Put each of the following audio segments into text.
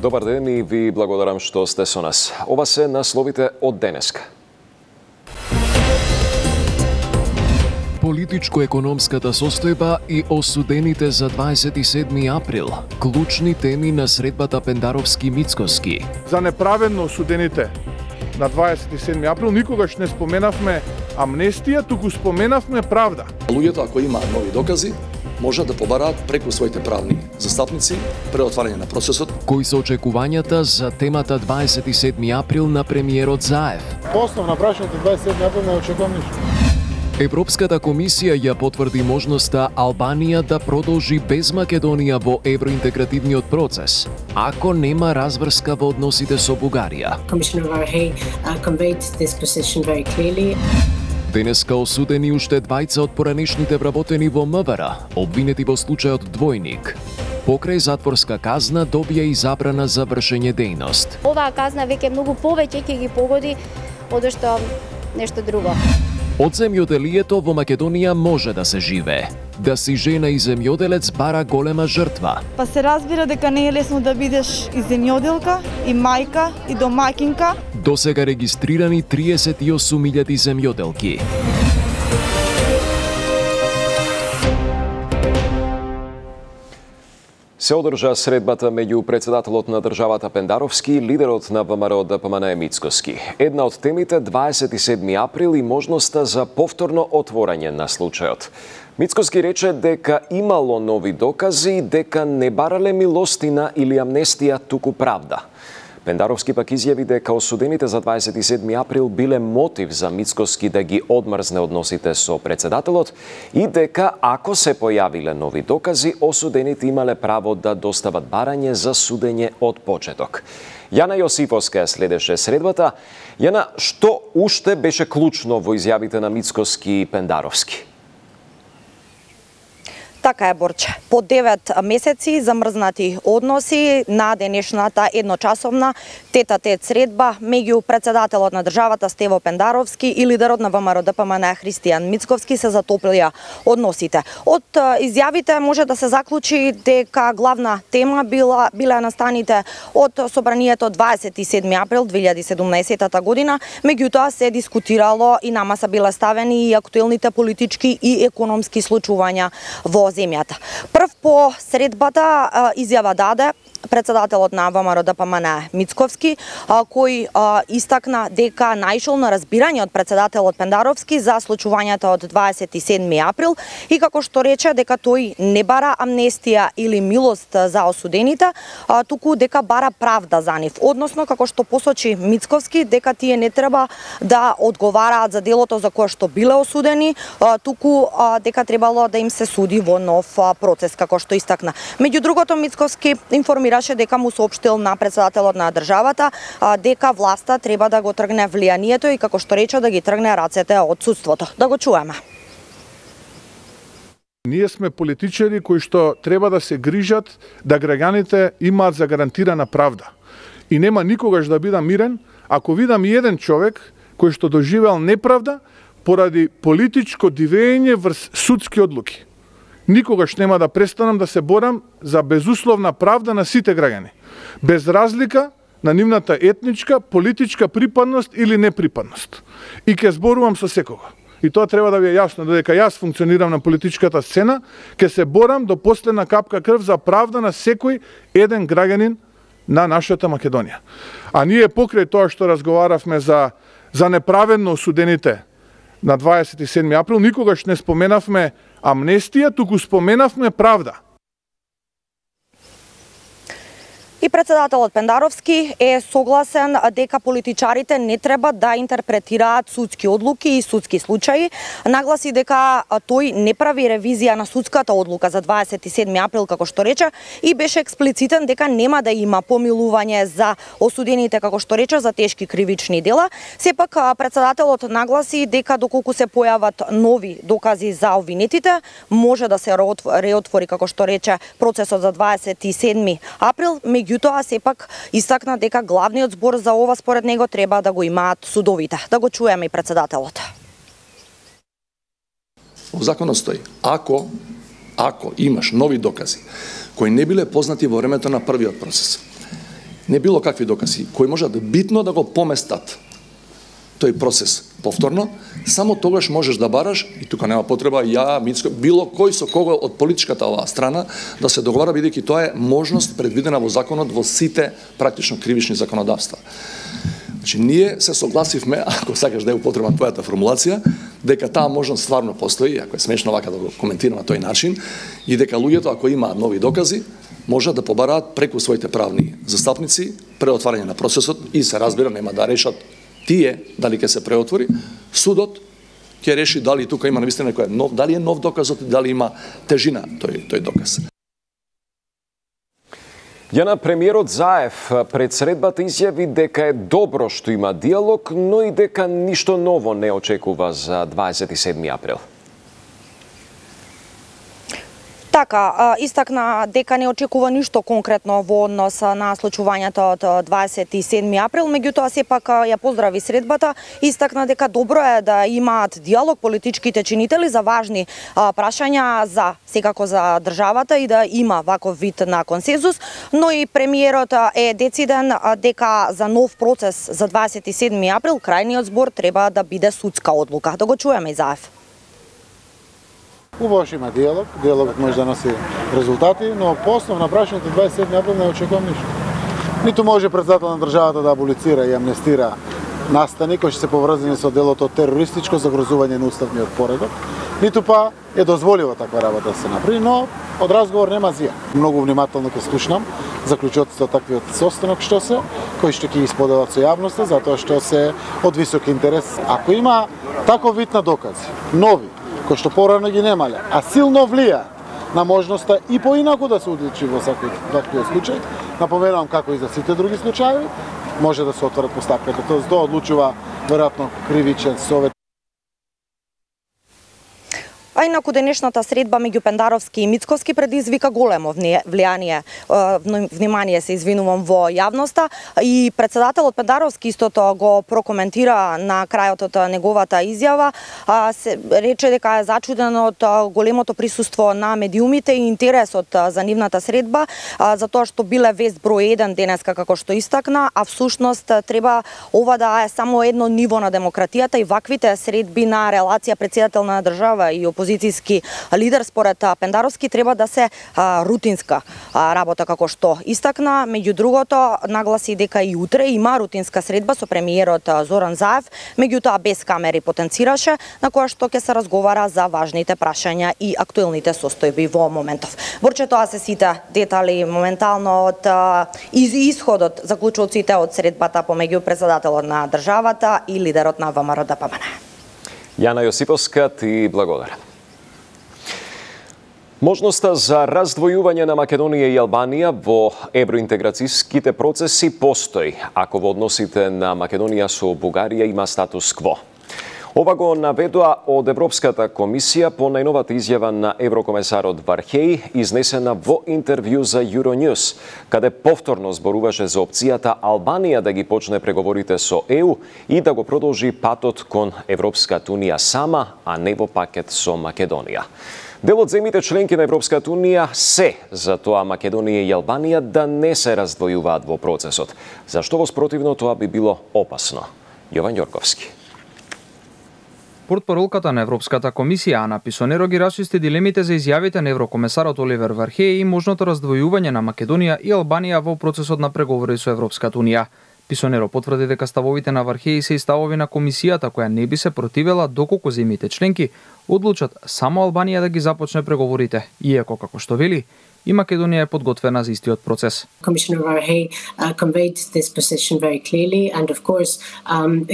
Добар ден и ви благодарам што сте со нас. Ова се насловите од денеска. Политичко-економската состојба и осудените за 27 април. Клучни теми на средбата Пендаровски-Мицкоски. За неправедно осудените на 27 април никогаш не споменавме амнестија, туку споменавме правда. Луѓето, ако имаат нови докази, може да побараат преку своите правни застапници пред отварање на процесот. Кои се очекувањата за темата 27 април на премиерот Заев? Основна прашањето 27 април не очекувам ништо. Европската комисија ја потврди можноста Албанија да продолжи без Македонија во евроинтегративниот процес, ако нема разврска во односите со Бугарија. Денеска осудени уште двајца од поранешните вработени во МВР, обвинети во случајот Двојник. Покрај затворска казна добија и забрана за вршење дејност. Оваа казна веќе многу повеќе ќе ги погоди одошто нешто друго. Од земјоделието во Македонија може да се живее. Да си жена и земјоделец бара голема жртва. Па се разбира дека не е лесно да бидеш и земјоделка, и мајка, и домаќинка. Досега регистрирани 38.000 земјоделки. Се одржа средбата меѓу председателот на државата Пендаровски и лидерот на ВМРО ДПМН Мицкоски. Една од темите 27 април и можноста за повторно отворање на случајот. Мицкоски рече дека имало нови докази и дека не барале милостина или амнестија, туку правда. Пендаровски пак изјави дека осудените за 27 април биле мотив за Мицкоски да ги одмрзне односите со председателот и дека ако се појавиле нови докази, осудените имале право да достават барање за судење од почеток. Јана Јосифовска следеше средбата. Јана, што уште беше клучно во изјавите на Мицкоски и Пендаровски? Така е, Борче. По 9 месеци замрзнати односи на денешната едночасовна тет-а-тет средба меѓу председателот на државата Стево Пендаровски и лидерот на ВМРО ДПМН Христијан Мицковски се затоплија односите. Од изјавите може да се заклучи дека главна тема биле настаните од собранието 27 април 2017 година, меѓутоа се дискутирало и на маса биле ставени и актуелните политички и економски случувања во земјата. Прв по средбата изјава даде председателот на ВМРО ДПМН Мицковски, кој истакна дека најшол на разбирање од председателот Пендаровски за случувањата од 27 април и како што рече дека тој не бара амнестија или милост за осудените, туку дека бара правда за нив. Односно, како што посочи Мицковски, дека тие не треба да одговараат за делото за кое што биле осудени, туку дека требало да им се суди во нов процес, како што истакна. Меѓу другото, Мицковски информираше дека му соопштил на председателот на државата дека власта треба да го тргне влијанието и како што рече да ги тргне рацете од судството. Да го чуеме. Ние сме политичари кои што треба да се грижат да граѓаните имаат загарантирана правда. И нема никогаш да бидам мирен ако видам еден човек кој што доживеал неправда поради политичко дивење врз судски одлуки. Никогаш нема да престанам да се борам за безусловна правда на сите граѓани, без разлика на нивната етничка, политичка припадност или неприпадност. И ќе зборувам со секого. И тоа треба да ви е јасно, додека јас функционирам на политичката сцена, ќе се борам до последна капка крв за правда на секој еден граѓанин на нашата Македонија. А ние покрај тоа што разговаравме за неправедно осудените на 27 април, никогаш не споменавме амнестија, туку споменавме правда. И председателот Пендаровски е согласен дека политичарите не треба да интерпретираат судски одлуки и судски случаи. Нагласи дека тој не прави ревизија на судската одлука за 27 април, како што рече, и беше експлицитен дека нема да има помилување за осудените, како што рече, за тешки кривични дела. Сепак председателот нагласи дека доколку се појават нови докази за обвинетите, може да се реотвори, како што рече, процесот за 27 април, меѓутоа сепак истакна дека главниот збор за ова според него треба да го имаат судовите. Да го чуеме и председателот. Во законот стои, ако имаш нови докази кои не биле познати во времето на првиот процес не било какви докази, кои можат битно да го поместат тој процес повторно, само тогаш можеш да бараш, и тука нема потреба ја, Мицко, било кој со кого од политичката оваа страна да се договара, бидејќи тоа е можност предвидена во законот во сите практично кривични законодавства. Значи, ние се согласивме, ако сакаш да е употребна твојата формулација, дека таа можност стварно постои, ако е смешно вака да го коментирам на тој начин, и дека луѓето, ако имаат нови докази, можат да побараат преку своите правни застапници преотварање на процесот и се разбира, нема да решат тие дали ќе се преотвори, судот ќе реши дали тука има навистина некој нов, дали е нов доказот и дали има тежина тој доказ. Јана, премиерот Заев пред средбата изјави дека е добро што има диалог, но и дека ништо ново не очекува за 27 април. Така, истакна дека не очекува ништо конкретно во однос на случувањето од 27 април, меѓутоа сепак ја поздрави средбата, истакна дека добро е да имаат диалог политичките чинители за важни прашања за секако за државата и да има ваков вид на консензус, но и премиерот е дециден дека за нов процес за 27 април крајниот збор треба да биде судска одлука. Да го чуеме и Заев. Убаво што има диалог, диалогот може да носи резултати, но по основно прашањето 27 април не очекувам ништо. Ниту може председател на државата да аболицира и амнестира настани кои ќе се поврзани со делото терористичко загрозување на уставниот поредок, ниту па е дозволила таква работа да се направи, но од разговор нема зија. Многу внимателно ќе слушнам заклучоците од таквиот состанок што се, кои што ќе исподелат со јавноста, затоа што се од висок интерес. Ако има таков вид на докази, нови, кои што порано ги немале, а силно влија на можноста и поинаку да се одлучи во таквиот случај, напоменувам како и за сите други случаи, може да се отворат постапката. Тоа одлучува веројатно кривичен совет. А инаку денешната средба меѓу Пендаровски и Мицкоски предизвика големо внимание се извинувам во јавноста и председателот Пендаровски истото го прокоментира на крајот од неговата изјава, се рече дека е зачуден од големото присуство на медиумите и интересот за нивната средба, затоа што биле вест број 1 денеска како што истакна, а всушност треба ова да е само едно ниво на демократијата и ваквите средби на релација председател на држава и опозицијски лидер според Пендаровски треба да се рутинска работа како што истакна. Меѓу другото нагласи дека и утре има рутинска средба со премиерот Зоран Заев, меѓутоа без камери потенцираше, на која што ќе се разговара за важните прашања и актуелните состојби во моментов. Борче, тоа се сите детали моментално од исходот, заклучоците од средбата помеѓу председателот на државата и лидерот на ВМРО-ДПМН. Јана Јосиповска, ти благодарам. Можноста за раздвојување на Македонија и Албанија во евроинтеграцијските процеси постои, ако во односите на Македонија со Бугарија има статус кво. Ова го наведоа од Европската комисија по најновата изјава на еврокомесарот Вархеј, изнесена во интервју за Euronews, каде повторно зборуваше за опцијата Албанија да ги почне преговорите со ЕУ и да го продолжи патот кон Европската унија сама, а не во пакет со Македонија. Дел од земјите членки на Европската унија се за тоа Македонија и Албанија да не се раздвојуваат во процесот, зашто во спротивно тоа би било опасно. Јован Ѓорковски. Портпаролката на Европската комисија Ана Писонеро ги расчисти дилемите за изјавите на еврокомесарот Оливер Вархеј и можното раздвојување на Македонија и Албанија во процесот на преговори со Европската унија. Писонеро потврди дека ставовите на Вархеј се и ставови на комисијата која не би се противела доколку земјите членки одлучат само Албанија да ги започне преговорите, иако како што вели и Македонија е подготвена за истиот процес. Commissioner Várhelyi conveyed this position very clearly, and of course,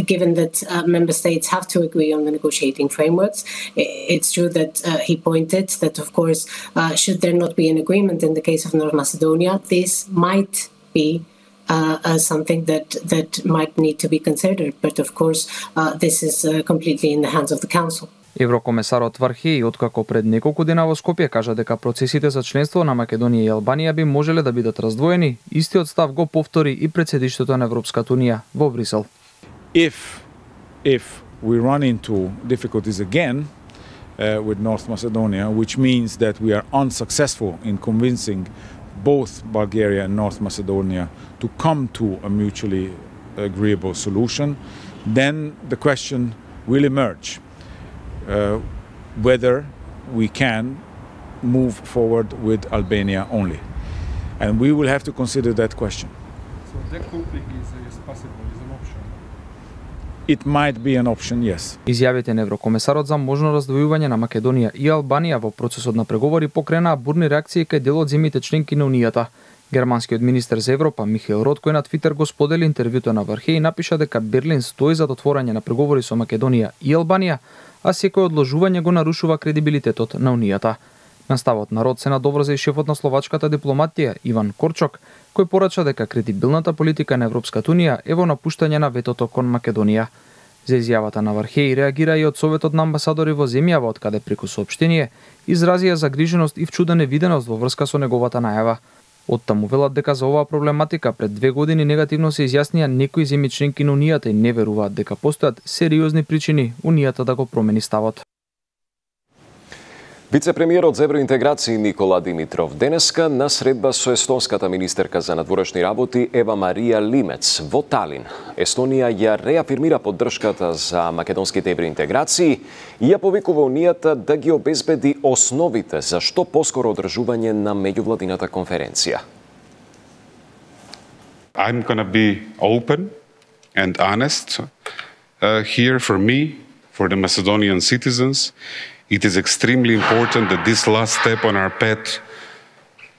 given that member states have to agree on the negotiating frameworks, it's true that he pointed that, of course, should there not be an agreement in the case of North Macedonia, this might be something that might need to be considered, but of course, this is completely in the hands of the Council. Еврокомесарот Вархеј, откако пред неколку дена во Скопје кажа дека процесите за членство на Македонија и Албанија би можеле да бидат раздвоени, истиот став го повтори и пред седиштето на Европската унија во Брисел. If we run into difficulties again with North Macedonia, which means that we are unsuccessful in convincing both Bulgaria and North Macedonia to come to a mutually agreeable solution, then the question will emerge whether we can move forward with Albania only. And we will have to consider that question. So decoupling is possible, is an option? It might be an option, yes. Изјавите на еврокомесарот за можно раздвојување на Македонија и Албанија во процесот на преговори покренаа бурни реакции кај дел од земјите членки на Унијата. Германскиот министер за Европа Михаел Рот, кој на Твитер го сподели интервјуто на Вархеј, напиша дека Берлин стои за отворање на преговори со Македонија и Албанија, а секој одложување го нарушува кредибилитетот на Унијата. На ставот на Рот се надоврза и шефот на словачката дипломатија Иван Корчок, кој порача дека кредибилната политика на Европската Унија е во напуштање на ветото кон Македонија. За изјавата на Вархеј реагира и од Советот на амбасадори во земјава, од каде преку соопштение изразија загриженост и вчуда невиденост во врска со неговата најава. Оттаму велат дека за оваа проблематика пред 2 години негативно се изјаснија некои земји членки на Унијата и не веруваат дека постојат сериозни причини Унијата да го промени ставот. Вице-премиерот за евроинтеграција Никола Димитров денеска на средба со естонската министерка за надворешни работи Ева Марија Лимец во Талин. Естонија ја реафирмира поддршката за македонските евроинтеграции и ја повикува Унијата да ги обезбеди основите за што поскоро одржување на меѓувладината конференција. I'm going to be open and honest here for me, for the Macedonian citizens. It is extremely important that this last step on our path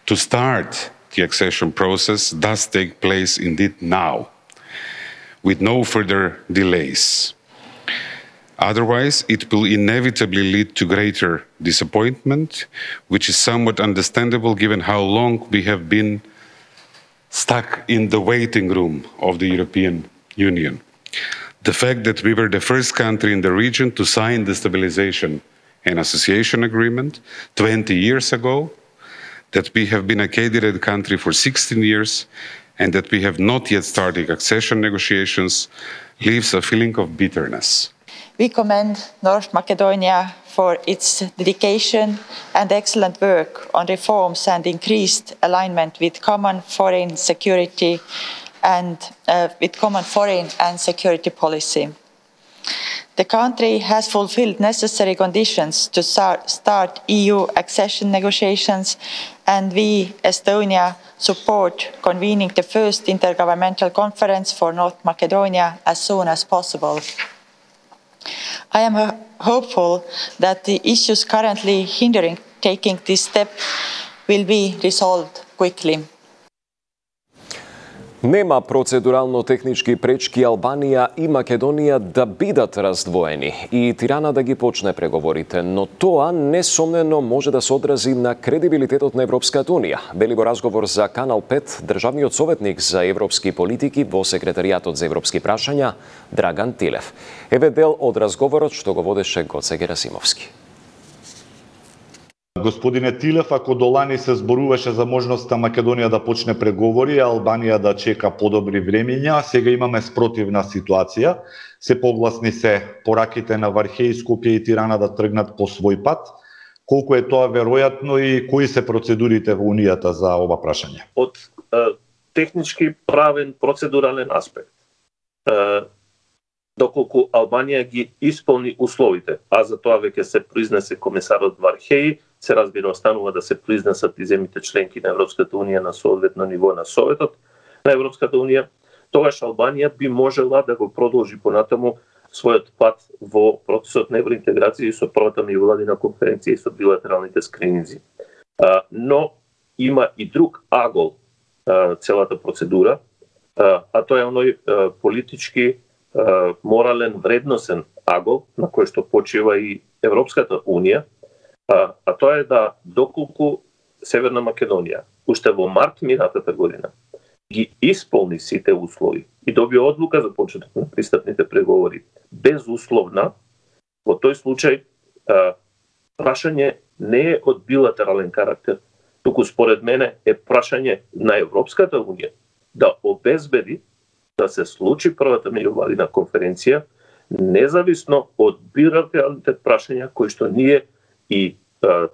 to start the accession process does take place indeed now, with no further delays. Otherwise, it will inevitably lead to greater disappointment, which is somewhat understandable given how long we have been stuck in the waiting room of the European Union. The fact that we were the first country in the region to sign the stabilization and association agreement 20 years ago, that we have been a candidate country for 16 years, and that we have not yet started accession negotiations leaves a feeling of bitterness. We commend North Macedonia for its dedication and excellent work on reforms and increased alignment with common foreign security and security policy. The country has fulfilled necessary conditions to start EU accession negotiations, and we, Estonia, support convening the first intergovernmental conference for North Macedonia as soon as possible. I am hopeful that the issues currently hindering taking this step will be resolved quickly. Нема процедурално-технички пречки Албанија и Македонија да бидат раздвоени и Тирана да ги почне преговорите, но тоа несомнено може да се одрази на кредибилитетот на Европската Унија, вели во разговор за Канал 5 државниот советник за европски политики во секретаријатот за европски прашања Драган Тилев. Еве дел од разговорот што го водеше Гоце Герасимовски. Господине Тилев, ако до лани се зборуваше за можноста Македонија да почне преговори, а Албанија да чека подобри времиња, сега имаме спротивна ситуација. Се погласни се пораките на Вархеј, Скопје и Тирана да тргнат по свој пат. Колку е тоа веројатно и кои се процедурите во Унијата за ова прашање? Од технички, правен, процедурален аспект, доколку Албанија ги исполни условите, а за тоа веќе се произнесе комесарот Вархеј, се разбира останува да се произнесат и земјите членки на Европската Унија на соодветно ниво на Советот на Европската Унија, тогаш Албанија би можела да го продолжи понатаму својот пат во процесот на евроинтеграција и со првата меѓувладина конференција и со билатералните скрининзи. Но има и друг агол целата процедура, а тоа е оној политички, морален, вредносен агол на кој што почива и Европската Унија, а тоа е да доколку Северна Македонија уште во март минатата година ги исполни сите услови и добија одлука за почеток на пристапните преговори безусловна, во тој случај прашање не е од билатерален карактер, туку според мене е прашање на Европската Унија да обезбеди да се случи првата меѓувладина конференција, независно од билатералните прашања кои што ние и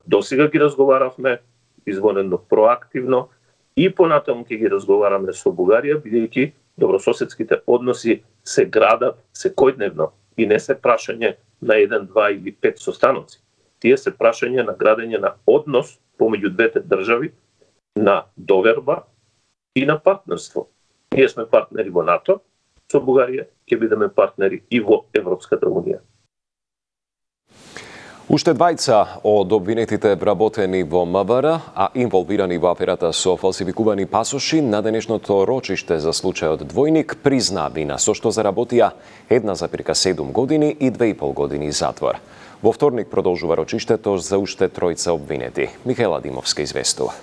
досега ги разговаравме извонено проактивно и понатаму ќе ги разговараме со Бугарија, бидејќи добрососедските односи се градат секојдневно и не се прашање на 1, 2 или 5 состаноци. Тие се прашање на градење на однос помеѓу двете држави, на доверба и на партнерство. Ние сме партнери во НАТО, со Бугарија ќе бидеме партнери и во Европската Унија. Уште двајца од обвинетите вработени во МВР, а инволвирани во аферата со фалсификувани пасоши, на денешното рочиште за случајот Двојник призна вина, со што заработија 1,7 години и 2,5 години затвор. Во вторник продолжува рочиштето за уште тројца обвинети. Михаела Димовска известува.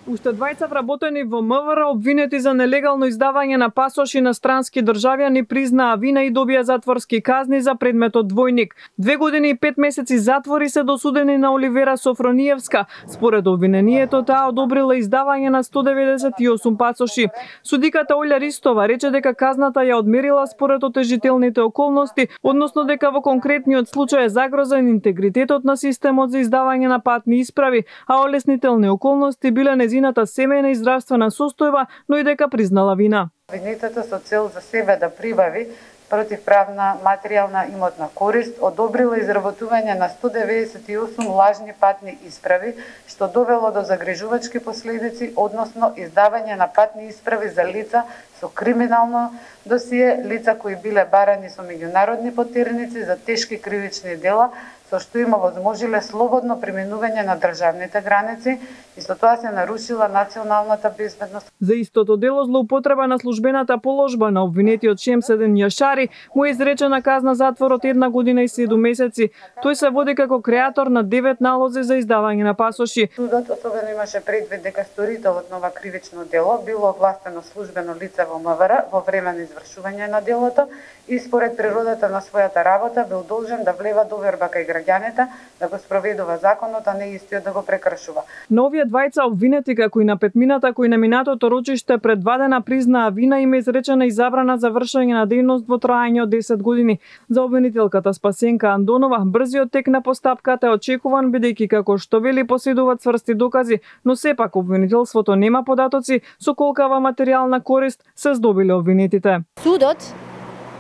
Уште двајца вработени во МВР обвинети за нелегално издавање на пасоши на странски државјани признаа вина и добија затворски казни за предметот Двојник. 2 години и 5 месеци затвори се досудени на Оливера Софрониевска. Според обвинението, таа одобрила издавање на 198 пасоши. Судиката Олја Ристова рече дека казната ја одмерила според отежителните околности, односно дека во конкретниот случај е загрозен интегритетот на системот за издавање на патни исправи, а олеснителни околности биле незината семејна и здравствена состојба, но и дека признала вина. Обвинетата со цел за себе да прибави противправна материјална имотна корист одобрила изработување на 198 лажни патни исправи, што довело до загрижувачки последици, односно издавање на патни исправи за лица со криминално досие, лица кои биле барани со меѓународни потерници за тешки кривични дела, со што им овозможиле слободно преминување на државните граници и со тоа се нарушила националната безбедност. За истото дело злоупотреба на службената положба на обвинетиот Шемседен Јашари му е изречена казна затвор од 1 година и 7 месеци. Тој се води како креатор на 9 налози за издавање на пасоши. Судот особено имаше предвид дека сторителот на ова кривично дело било овластено службено лице во МВР во време на извршување на делото и според природата на својата работа бил должен да влева доверба кај граѓаните, да го спроведува законот, а не истиот да го прекршува. На овие двајца обвинети, како и на петмината кои на минатото рочиште предвадена признаа вина, им е изречена и забрана за вршење на дејност во траење од 10 години. За обвинителката Спасенка Андонова, брзиот тек на постапката е очекуван, бидејќи како што вели поседуваат цврсти докази, но сепак обвинителството нема податоци со колкава материјална корист се здобиле обвинетите. Судот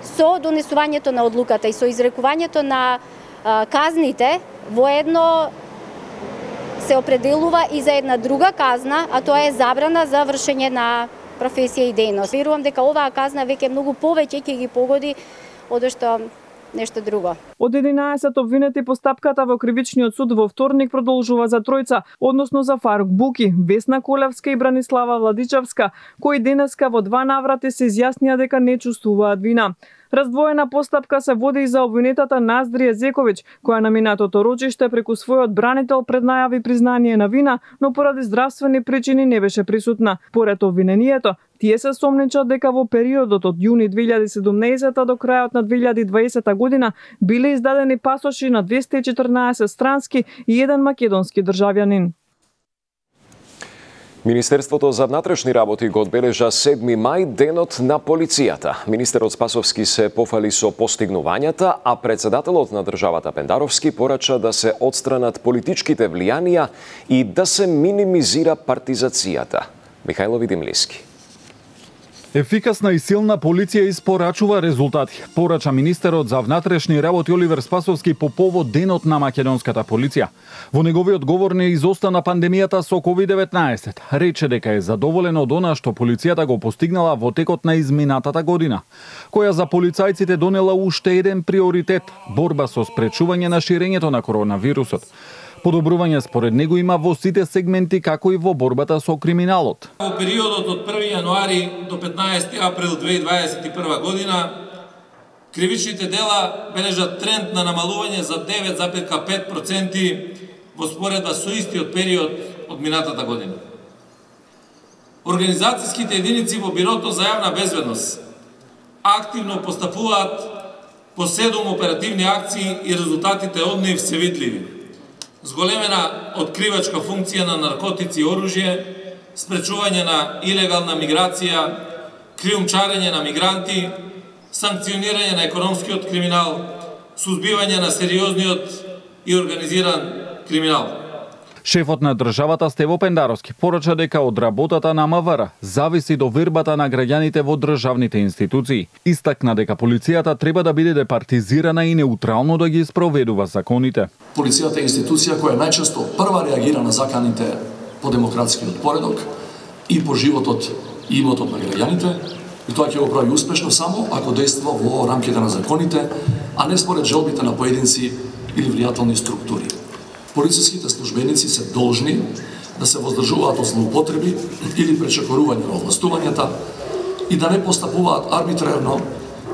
со донесувањето на одлуката и со изрекувањето на казните воедно се определува и за една друга казна, а тоа е забрана за вршење на професија и дејност. Верувам дека оваа казна веќе многу повеќе ќе ги погоди одошто нешто друго. Од 11 обвинети постапката во кривичниот суд во вторник продолжува за тројца, односно за Фарук Буки, Весна Колевска и Бранислава Владичевска, кои денеска во 2 наврати се изјаснија дека не чувствуваат вина. Раздвоена постапка се води и за обвинетата Наздрија Зековиќ, која на минатото рочиште преку својот бранител преднајави признание на вина, но поради здравствени причини не беше присутна. Поред обвинението, тие се сомничат дека во периодот од јуни 2017 до крајот на 2020 година биле издадени пасоши на 214 странски и 1 македонски државјанин. Министерството за внатрешни работи го одбележа 7 мај денот на полицијата. Министерот Спасовски се пофали со постигнувањата, а председателот на државата Пендаровски порача да се отстранат политичките влијанија и да се минимизира партизацијата. Михајло Видимлиски. Ефикасна и силна полиција испорачува резултати, порача министерот за внатрешни работи Оливер Спасовски по повод денот на македонската полиција. Во неговиот говор не изостана пандемијата со COVID-19. Рече дека е задоволен од она што полицијата го постигнала во текот на изминатата година, која за полицајците донела уште еден приоритет – борба со спречување на ширењето на коронавирусот. Подобрување според него има во сите сегменти, како и во борбата со криминалот. Во периодот од 1 јануари до 15 април 2021 година, кривичните дела бележат тренд на намалување за 9,5% во споредба со истиот период од минатата година. Организацијските единици во Бирото за јавна безбедност активно постапуваат по 7 оперативни акции и резултатите од нив се видливи. Зголемена откривачка функција на наркотици и оружје, спречување на илегална миграција, криумчарење на мигранти, санкционирање на економскиот криминал, сузбивање на сериозниот и организиран криминал. Шефот на државата Стево Пендаровски порача дека од работата на МВР зависи до вербата на граѓаните во државните институции. Истакна дека полицијата треба да биде департизирана и неутрално да ги спроведува законите. Полицијата е институција која најчесто прва реагира на заканите по демократскиот поредок и по животот и имотот на граѓаните, и тоа ќе го прави успешно само ако действа во рамките на законите, а не според желбите на поединци или влијателни структури. Полициските службеници се должни да се воздржуваат од злоупотреби или пречекорување на овластувањата и да не постапуваат арбитрерно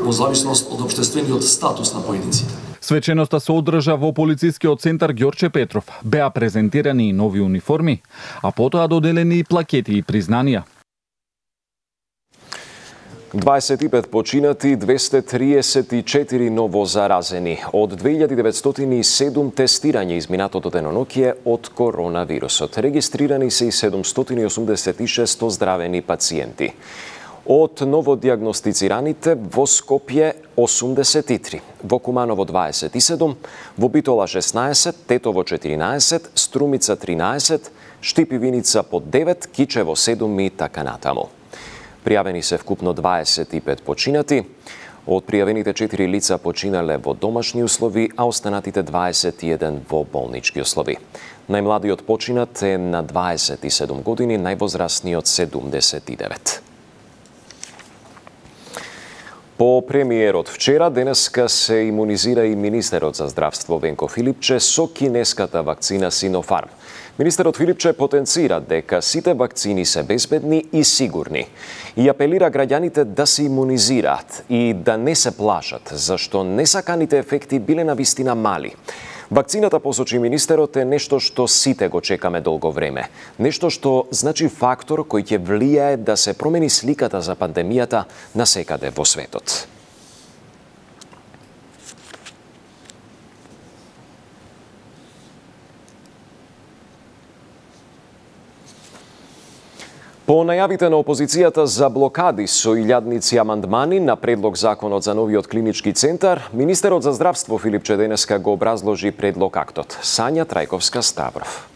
во зависност од општествениот статус на поединците. Свеченоста се одржа во полицискиот центар Ѓорче Петров. Беа презентирани и нови униформи, а потоа доделени и плакети и признанија. 25 починати, 234 ново заразени. Од 2907 тестирање изминатото деноноќие од коронавирусот. Регистрирани се и 786 оздравени пациенти. Од новодиагностицираните во Скопје 83, во Куманово 27, во Битола 16, Тетово 14, Струмица 13, Штипивиница по 9, Кичево 7 и така натаму. Пријавени се вкупно 25 починати. Од пријавените 4 лица починале во домашни услови, а останатите 21 во болнички услови. Најмладиот починат е на 27 години, највозрастниот 79. По премиерот вчера, денеска се имунизира и министерот за здравство Венко Филипче со кинеската вакцина Синофарм. Министерот Филипче потенцира дека сите вакцини се безбедни и сигурни и апелира граѓаните да се имунизираат и да не се плашат, зашто несаканите ефекти биле навистина мали. Вакцината, посочи министерот, е нешто што сите го чекаме долго време. Нешто што значи фактор кој ќе влијае да се промени сликата за пандемијата насекаде во светот. По најавите на опозицијата за блокади со илјадници амандмани на предлог законот за новиот клинички центар, министерот за здравство Филипче денеска го образложи предлог актот. Сања Трајковска Ставров.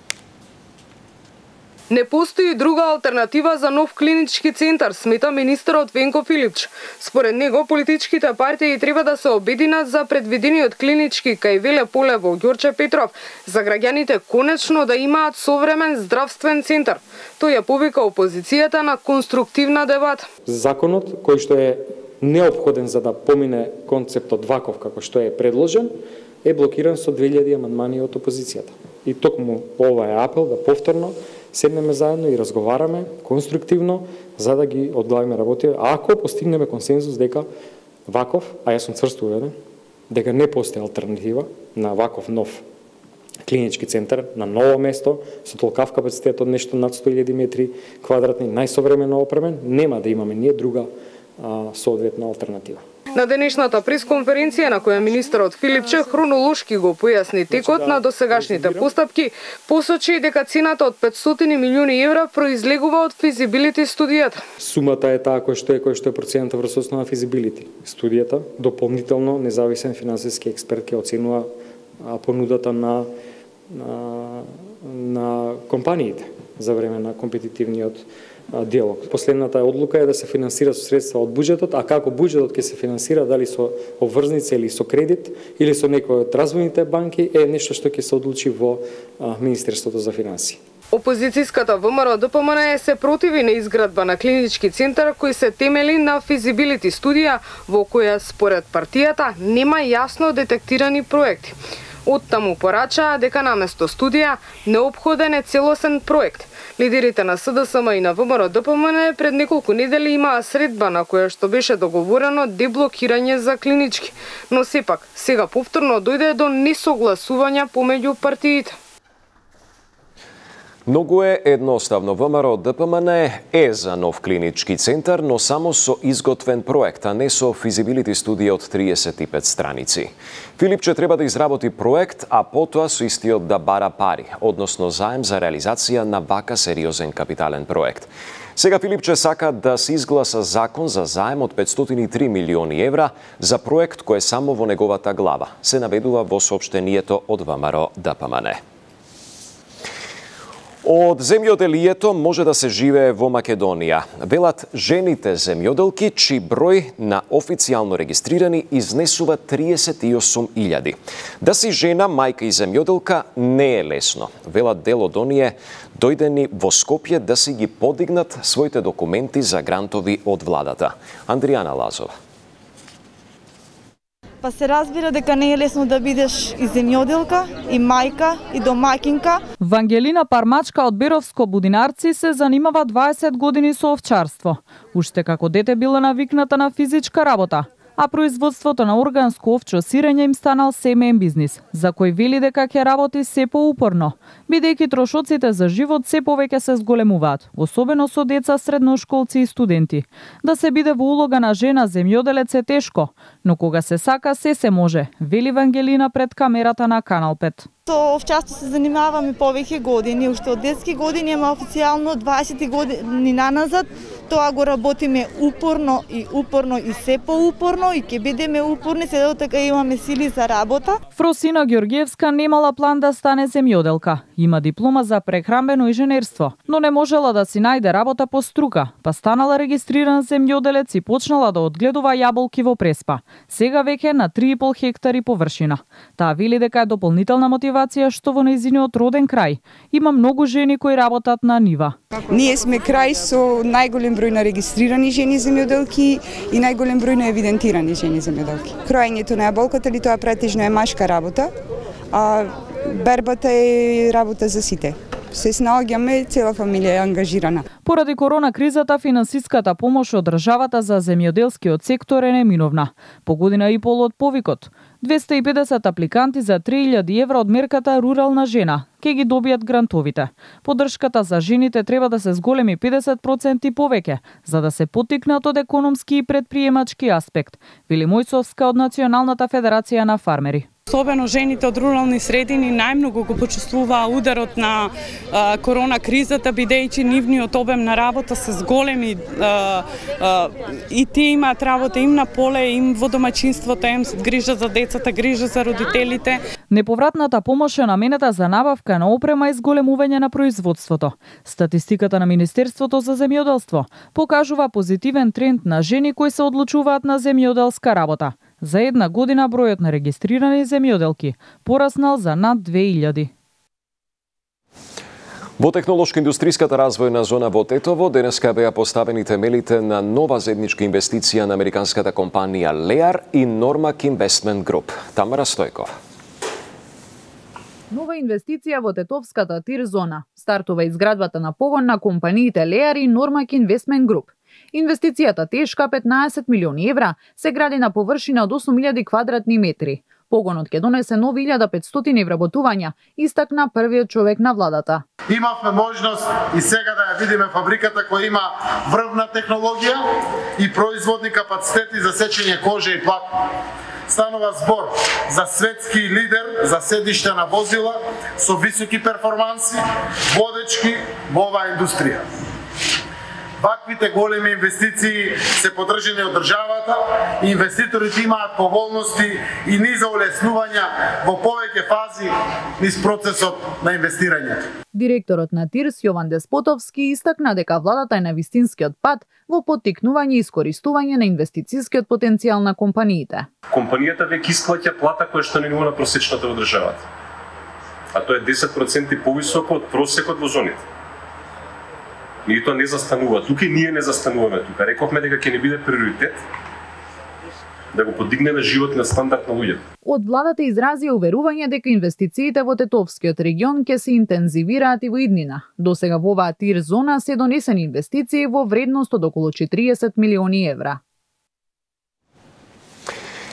Не постои друга алтернатива за нов клинички центар, смета министерот Венко Филипч. Според него, политичките партии треба да се обединат за предвидениот клинички кај Веле поле во Ѓорче Петров, за граѓаните конечно да имаат современ здравствен центар. Тој ја повика опозицијата на конструктивна дебата. Законот кој што е неопходен за да помине концептот ваков како што е предложен, е блокиран со 2000 амандмани од опозицијата. И токму ова е апел да повторно седнеме заедно и разговараме конструктивно за да ги одглавиме работите. Ако постигнеме консензус дека ваков, а јас сум цврсто уверен, дека не постои алтернатива на ваков нов клинички центар на ново место со толкав капацитет од нешто над 100.000 метри квадратни, најсовремено опремен, нема да имаме ние друга соодветна алтернатива. На денешната пресконференција на која министерот Филипче хронолошки го појасни текот на досегашните постапки, посочи дека цената од 500 милиони евра произлегува од физибилити студијата. Сумата е таа кој што е процената врз основа на физибилити студијата. Дополнително независен финансиски експерт ќе оценува понудата на компаниите за време на компетитивниот диалог. Последната одлука е да се финансира со средства од буџетот, а како буџетот ќе се финансира, дали со обврзница или со кредит, или со некој од развојните банки, е нешто што ќе се одлучи во Министерството за финансии. Опозицијската ВМРО ДПМН се противи на изградба на клинички центар кој се темели на физибилити студија во која според партијата нема јасно детектирани проекти. Оттаму порачаа дека наместо студија неопходен е целосен проект. Лидерите на СДСМ и на ВМРО ДПМН пред неколку недели имаа средба на која што беше договорено деблокирање за клинички, но сепак сега повторно дојде до несогласувања помеѓу партиите. Многу е едноставно. ВМРО ДПМН е за нов клинички центар, но само со изготвен проект, а не со физибилити студија од 35 страници. Филипче треба да изработи проект, а потоа со истиот да бара пари, односно заем за реализација на вака сериозен капитален проект. Сега Филипче сака да се изгласа закон за заем од 503 милиони евра за проект кој е само во неговата глава, се наведува во соопштението од ВМРО ДПМН. Од земјоделието може да се живее во Македонија. Велат жените земјоделки, чиј број на официјално регистрирани изнесува 38.000. Да си жена, мајка и земјоделка не е лесно. Велат дел од оние дојдени во Скопје да си ги подигнат своите документи за грантови од владата. Андријана Лазова. Па се разбира дека не е лесно да бидеш и земјоделка, и мајка, и домаќинка. Вангелина Пармачка од Беровско Будинарци се занимава 20 години со овчарство. Уште како дете била навикната на физичка работа, а производството на органско овчо сирење им станал семеен бизнис, за кој вели дека ќе работи се поупорно, бидејќи трошоците за живот се повеќе се зголемуваат, особено со деца, средношколци и студенти. Да се биде во улога на жена земјоделец е тешко, но кога се сака се може, вели Вангелина пред камерата на Канал 5. Со овчарство се занимаваме повеќе години, уште од детски години, ама официјално 20 години наназад. Тоа го работиме упорно и се поупорно и ќе бидеме упорни, се до така имаме сили за работа. Фросина Ѓорѓевска немала план да стане земјоделка. Има диплома за прехранбено инженерство, но не можела да си најде работа по струка, па станала регистриран земјоделец и почнала да одгледува јаболки во Преспа. Сега веќе на 3,5 хектари површина. Таа вели дека е дополнителна мотивација што во нејзиниот роден крај има многу жени кои работат на нива. Ние сме крај со најголем број на регистрирани жени земјоделки и најголем број на евидентирани жени земјоделки. Кроењето на јаболката или тоа претежно е машка работа, а бербата е работа за сите. Се снаоѓаме, цела фамилија е ангажирана. Поради корона кризата, финансиската помош од државата за земјоделскиот сектор е неминовна. По година и пол од повикот, 250 апликанти за 3.000 евра од мерката Рурална жена ќе ги добијат грантовите. Поддршката за жените треба да се зголеми 50% повеќе, за да се поттикнат од економски и предприемачки аспект, вели Мојсовска од Националната федерација на фармери. Особено жените од рурални средини најмногу го почувствуваа ударот на корона кризата, бидејќи нивниот обем на работа се зголеми и тие имаат работа им на поле, им во домаќинството, им грижа за децата, грижа за родителите. Неповратната помош е наменета за набавка на опрема и зголемување на производството. Статистиката на Министерството за земјоделство покажува позитивен тренд на жени кои се одлучуваат на земјоделска работа. За една година бројот на регистрирани земјоделки пораснал за над 2000. Во технолошко-индустријската развојна зона во Тетово денеска беа поставени темелите на нова заедничка инвестиција на американската компанија Lear и Normac Investment Group. Тамара Стојкова. Нова инвестиција во тетовската тир зона. Стартува изградбата на погон на компаниите Lear и Normac Investment Group. Инвестицијата тешка 15 милиони евра се гради на површина од 8000 квадратни метри. Погонот ќе донесе нови 1500 вработувања, истакна првиот човек на владата. Имавме можност и сега да ја видиме фабриката која има врвна технологија и производни капацитети за сечење кожа и платно. Станува збор за светски лидер за седиште на возила со високи перформанси, водечки во оваа индустрија. Ваквите големи инвестиции се поддржани од државата, инвеститорите имаат поволности и низа улеснувања во повеќе фази низ процесот на инвестирање. Директорот на ТИРС Јован Деспотовски истакна дека владата е на вистинскиот пат во поттикнување и искористување на инвестицијскиот потенцијал на компаниите. Компанијата веќе исплаќа плата која што не ниво на просечната во државата. А тоа е 10% повисоко од просекот во зоните. И тоа не застанува тука и ние не застануваме тука. Рековме дека ќе не биде приоритет да го подигнеме животниот стандард на луѓето. Од владата изрази уверување дека инвестициите во Тетовскиот регион ќе се интензивираат и во иднина. Досега во оваа тир зона се донесени инвестиции во вредност од околу 40 милиони евра.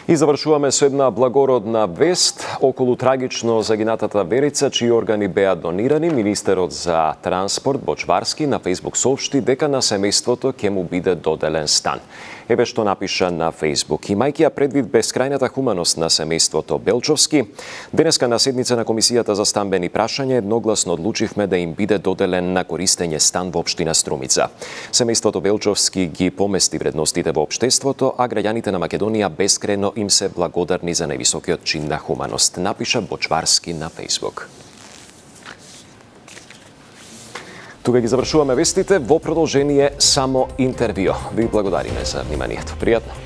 И завршуваме со една благородна вест околу трагично загинатата Верица, чии органи беа донирани. Министерот за транспорт Бочварски на Фейсбук соопшти дека на семејството ќе му биде доделен стан. Еве што напиша на Фейсбук. Имајќи ја предвид бескрајната хуманост на семејството Белчовски, денеска на седница на Комисијата за стамбени прашања едногласно одлучивме да им биде доделен на користење стан во општина Струмица. Семејството Белчовски ги помести вредностите во општеството, а граѓаните на Македонија бескрено им се благодарни за највисокиот чин на хуманост, напиша Бочварски на Фейсбук. Тука ги завршуваме вестите, во продолжение само интервју. Ви благодариме за вниманието. Пријатно.